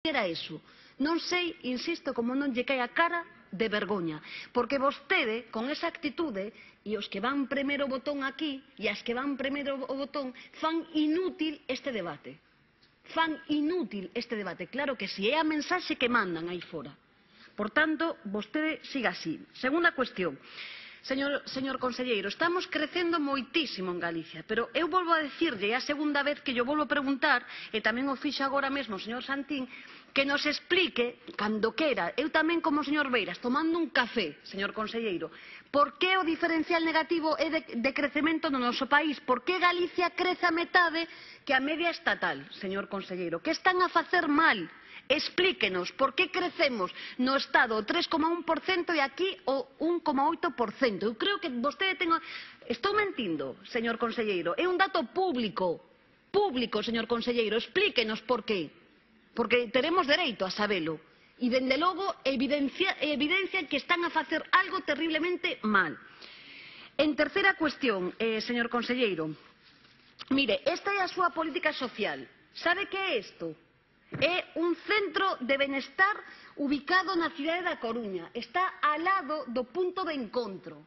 era eso. Non sei, insisto, como non lle cae a cara de vergoña, porque vostede, con esa actitude, e os que van primeiro o botón aquí, e as que van primeiro o botón, fan inútil este debate. Fan inútil este debate. Claro que si, é a mensaxe que mandan aí fora. Por tanto, vostede siga así. Segunda cuestión. Señor conselleiro, estamos crecendo moitísimo en Galicia, pero eu volvo a dicirlle, é a segunda vez que yo volvo a preguntar, e tamén o fixo agora mesmo o señor Santín, que nos explique, cando quera, eu tamén como o señor Beiras, tomando un café, señor conselleiro, por que o diferencial negativo é de crecemento no noso país, por que Galicia crece a metade que a media estatal, señor conselleiro, que están a facer mal? Explíquenos por que crecemos no Estado o 3,1% e aquí o 1,8%. Eu creo que vostede ten... Estou mentindo, señor conselleiro. É un dato público, señor conselleiro. Explíquenos por qué. Porque teremos dereito a sabelo. E, dende logo, evidencian que están a facer algo terriblemente mal. En terceira cuestión, señor conselleiro, mire, esta é a súa política social. Sabe que é isto? É un centro de benestar ubicado na cidade da Coruña. Está ao lado do punto de encontro.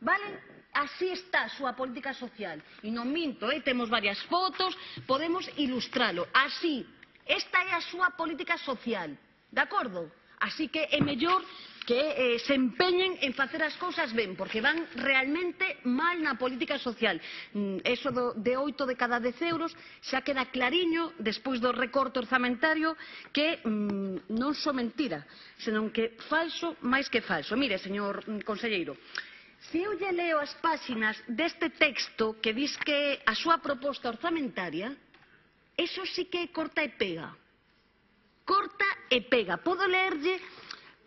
Vale? Así está a súa política social. E non minto, temos varias fotos, podemos ilustralo. Así, esta é a súa política social. De acordo? Así que é mellor que se empeñen en facer as cousas ben, porque van realmente mal na política social. Eso de 8 de cada 10 euros xa queda clariño, despois do recorte orzamentario, que non só mentira, senón que falso máis que falso. Mire, señor conselleiro, se eu lle leo as páxinas deste texto que dis que a súa proposta orzamentaria, eso sí que corta e pega. Corta e pega. Podo leerlle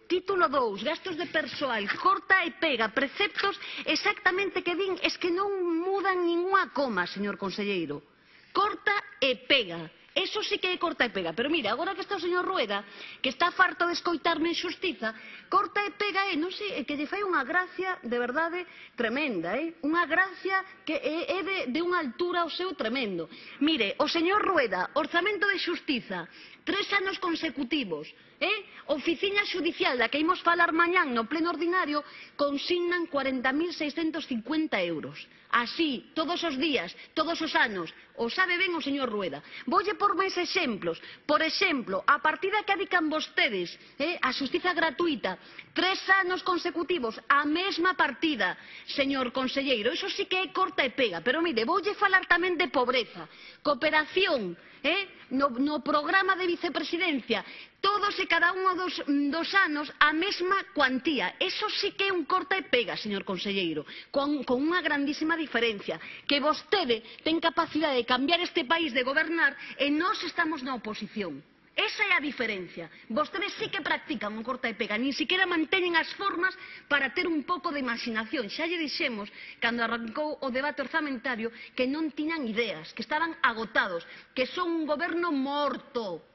título 2, gastos de persoal, corta e pega, preceptos exactamente que din, es que non mudan ninguna coma, señor conselleiro. Corta e pega. Eso sí que é corta e pega. Pero mira, agora que está o señor Rueda, que está farto de escoitarme en xustiza, corta e pega non sei, que lle fai unha gracia de verdade tremenda, unha gracia que é de unha altura o seu tremendo. Mire, o señor Rueda, orzamento de xustiza, 3 anos consecutivos, oficina xudicial da que imos falar mañán no pleno ordinario, consignan 40.650 euros. Así, todos os días, todos os anos, o sabe ben o señor Rueda. Voulle por máis exemplos. Por exemplo, a partida que adican vostedes a xustiza gratuita, 3 anos consecutivos, a mesma partida, señor conselleiro. Iso sí que é corta e pega. Pero mire, voulle falar tamén de pobreza, cooperación, no programa de vicepresidencia, todos e cada un dos anos a mesma cuantía. Eso sí que é un corta e pega, señor conselleiro, con unha grandísima diferencia, que vostede ten capacidade de cambiar este país, de gobernar, e nós estamos na oposición. Esa é a diferencia. Vostedes sí que practican un corta e pega, nin siquiera manteñen as formas para ter un pouco de imaginación. Xa lle dixemos, cando arrancou o debate orzamentario, que non tiñan ideas, que estaban agotados, que son un goberno morto,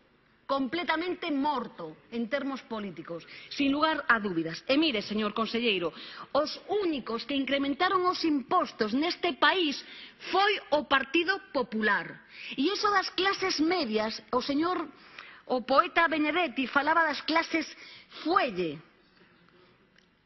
completamente morto en termos políticos, sin lugar a dúbidas. E mire, señor conselleiro, os únicos que incrementaron os impostos neste país foi o Partido Popular. E iso das clases medias, o poeta Benedetti falaba das clases fuelle.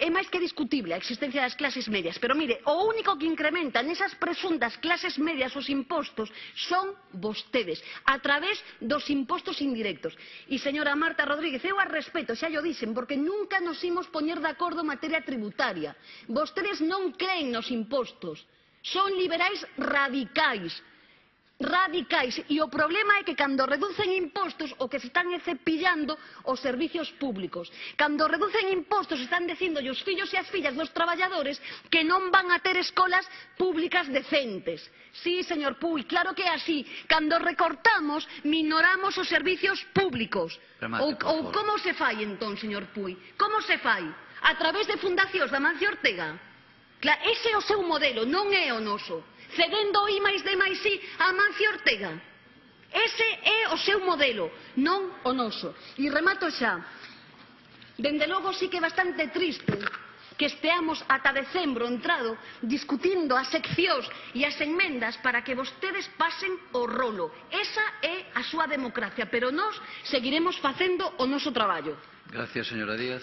É máis que discutible a existencia das clases medias, pero mire, o único que incrementa nesas presuntas clases medias os impostos son vostedes, a través dos impostos indirectos. E, señora Marta Rodríguez, eu a respeto, xa llo dixen, porque nunca nos imos poñer de acordo en materia tributaria. Vostedes non creen nos impostos, son liberais radicais, e o problema é que cando reducen impostos o que se están é cepillando os servicios públicos. Cando reducen impostos están dicindo os fillos e as fillas dos traballadores que non van a ter escolas públicas decentes. Sí, señor Puig, claro que é así. Cando recortamos, minoramos os servicios públicos. Ou como se fai entón, señor Puig? Como se fai? A través de fundacións da Mancio Ortega? Ese é o seu modelo, non é o noso. Cedendo I máis D máis I a Mancio Ortega. Ese é o seu modelo, non o noso. E remato xa. Dende logo sí que é bastante triste que esteamos ata decembro entrado discutindo as seccións e as enmendas para que vostedes pasen o rolo. Esa é a súa democracia, pero nós seguiremos facendo o noso traballo. Gracias, señora Díaz.